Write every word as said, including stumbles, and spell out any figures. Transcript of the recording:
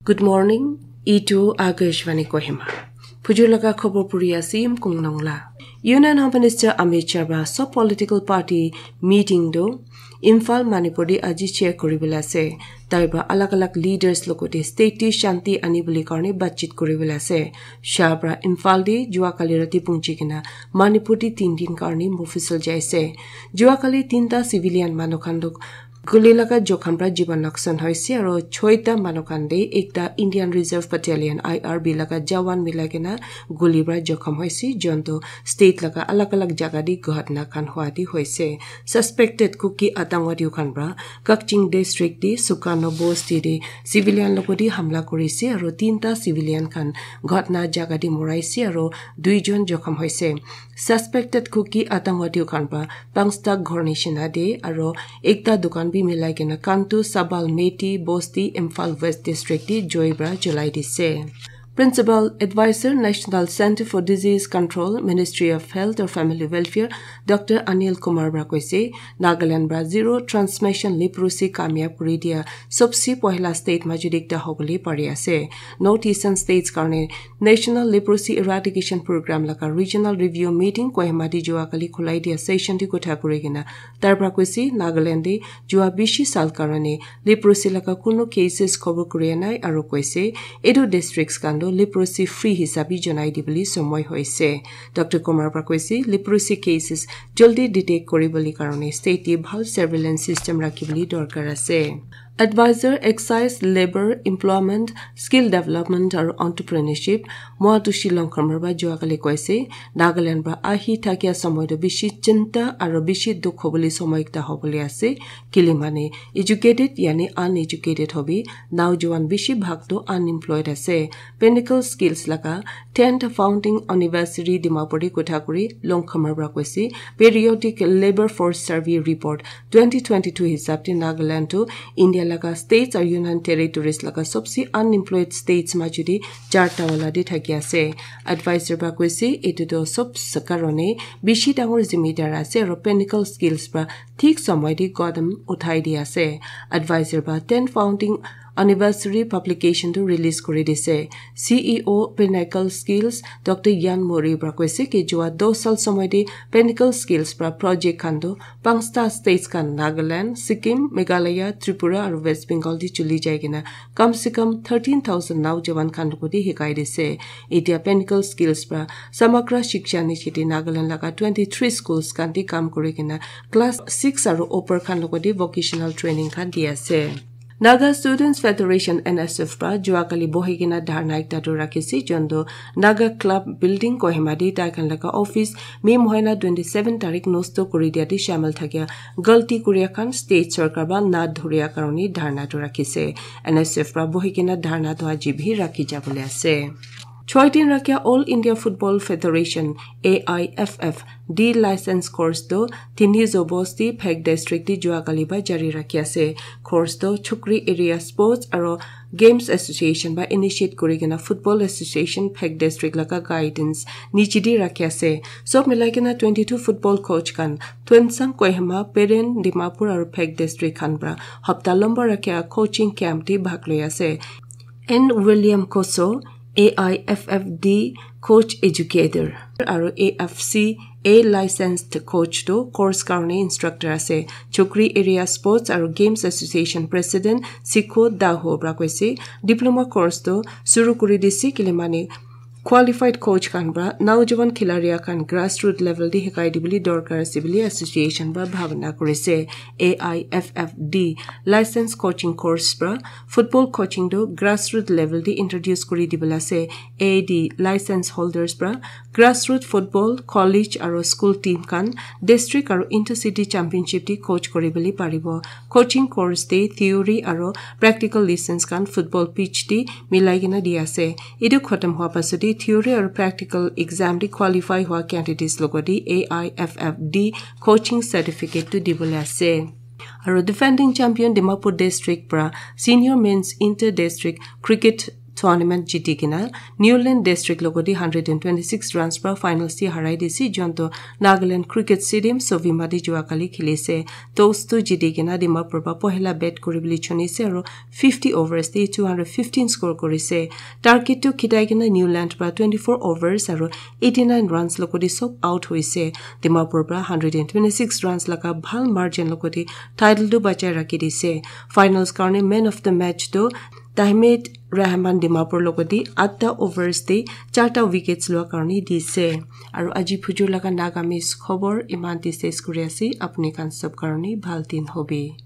Good morning. Itu Akashvani Kohima. Phujur laga khobor puri ase Yimkung Nongla. Union Home Minister Amit Shah pra sob political party meeting tu Imphal Manipur te aji chair kuribole ase. Tai pra alag alag leaders logote state te shanti anibole karne batchit kuribole ase. Shah pra Imphal te jua kali rati punchi kena Manipur te tin din karne mufusal jaise. Jua kali tinta civilian manu khan tu guli laga jokham pra jiban noksan hoise aro choita manu khan te ekta Indian Reserve Battalion, I R B, laga jawan milai kena guli pra jokham hoise, jontu state laga alag alag jaga te ghatna khan hua te hoise. Suspected Kuki Atangwadi khan pra Kakching District te Sukano Bosti te civilian logote hamla kurise aro tinta civilian khan ghatna jaga te moraise aro duijon jokham hoise. Suspected Kuki Atangwadi khan pra pangsta ghor nishina te aro ekta dukan bi milai kena Kantu Sabal Meti Bosti Imphal West District te joi pra julai dise. Principal Advisor, National Centre for Disease Control, Ministry of Health or Family Welfare, Doctor Anil Kumar pra koise, Nagaland pra zero transmission leprosy kamyab kuri dia sobse pohila state majud ekta hobole pari ase. North Eastern states karne National Leprosy Eradication Program laga regional review meeting Kohima te jua kali khulai dia session te kotha kuri kena tar pra koise, Nagaland te jua bishi sal karne leprosy laga kuno cases khobor kuria nai aro koise, etu districts khan tu leprosy free hisabe janai dibole somoi hoise. Doctor Kumar pra koise, leprosy cases jaldi detect kuribole karne state te bhal surveillance system rakhibole dorkar ase. Advisor, Excise, Labour, Employment, Skill Development aru Entrepreneurship, Moa Tushi Longkhamar pra jua kali koise, Nagaland pra ahi thakia somoi tu bishi chinta aru bishi dukh hobole somoi ekta hobole ase. Kile mane educated yani uneducated hobi, naujowan bishi bhag tu unemployed ase. Pinnacle Skills laga tenth founding anniversary Dimapur te kotha kuri Longkhamar pra koise, Periodic Labour Force Survey Report twenty twenty-two hisab te Nagaland tu India laga states aru Union Territories laga sobse unemployed states majud te charta wala te thaki ase. Advisor pra koise, etu tu sob karone bishi dangor zimedar ase aru Pinnacle Skills pra thik somoi te qadam uthai di ase. Advisor pra ten founding anniversary publication tu release kuri dise. C E O Pinnacle Skills Doctor Yan Mori pra koise ki jua dos sal somoi te Pinnacle Skills pra project khan tu pangsta states khan Nagaland, Sikkim, Meghalaya, Tripura aru West Bengal te chuli jai kena kam se kam thirteen thousand naujowan khan logote hikai dise. Etia Pinnacle Skills pra Samagra Shiksha Nishi te Nagaland laga twenty-three schools khan te kam kuri kena class six aru upper khan logote vocational training khan di ase. Naga Students Federation, N S F, pra jua kali bohi kena dharna ekta tu rakhise, jontu Naga Club Building Kohima te tai khan laga office May mohina twenty-seven tarik nosto kuri dia te shamil thakia galti kuria khan state sorkar pra na dhuria karone dharna tu rakhise. N S F pra bohi kena dharna tu aji bhi rakhi jabole ase. Choi din rakhia All India Football Federation, A I F F, D license course tu Thinizho Bosti, Phek District te jua kali pra jari rakhi ase. Course tu Chukri Area Sports aru Games Association pra initiate kuri kena Football Association Phek District laga guidance niche te rakhi ase. Sob milai kena twenty-two football coach khan Tuensang, Kohima, Peren, Dimapur aru Phek District khan pra hapta lamba rakhia coaching camp te bhag loi ase. N William Koso, A I F F D coach educator aru A F C A licensed coach tu course karone instructor ase. Chukri Area Sports aru Games Association President Sikho Daho pra koise, diploma course tu suru kuri dise kile mane qualified coach khan pra naujowan khilaria khan grassroot level te hikai dibole dorkar ase bole association pra bhabna kurise. A I F F D license coaching course pra football coaching tu grassroot level te introduce kuri dibole ase. A D license holders pra grassroot football, college aru school team khan district aru intercity championship te coach kuri bole paribo. Coaching course te theory aru practical lessons khan football pitch te milai kena di ase. Etu khatam hua pasat te theory aru practical exam te qualify hua candidates logote A I F F D coaching certificate tu dibole ase. Aru defending champion Dimapur District pra senior men's inter district cricket tournament jiti kena Newland District logoti hundred and twenty six runs pra finals ti harai dise, jonto Nagaland Cricket Stadium Sovima te jua kali khilise. Toss tu jiti kena Dimapur pra pohela bat kuribole chunise aro fifty overs te two hundred fifteen score kurise. Target tu khitai kena Newland pra twenty four overs aro eighty nine runs logoti sob out hoise. Dimapur pra hundred and twenty six runs laga bhal margin logoti title tu bachai rakhi dise. Finals karne man of the match tu Tahmid Rahman Dimapur logoti atta overs te charta wickets lua karne dise. Aro aji phujur laga Nagamese khobor iman te ses kuri ase. Apni khan sob karne bhal din hobi.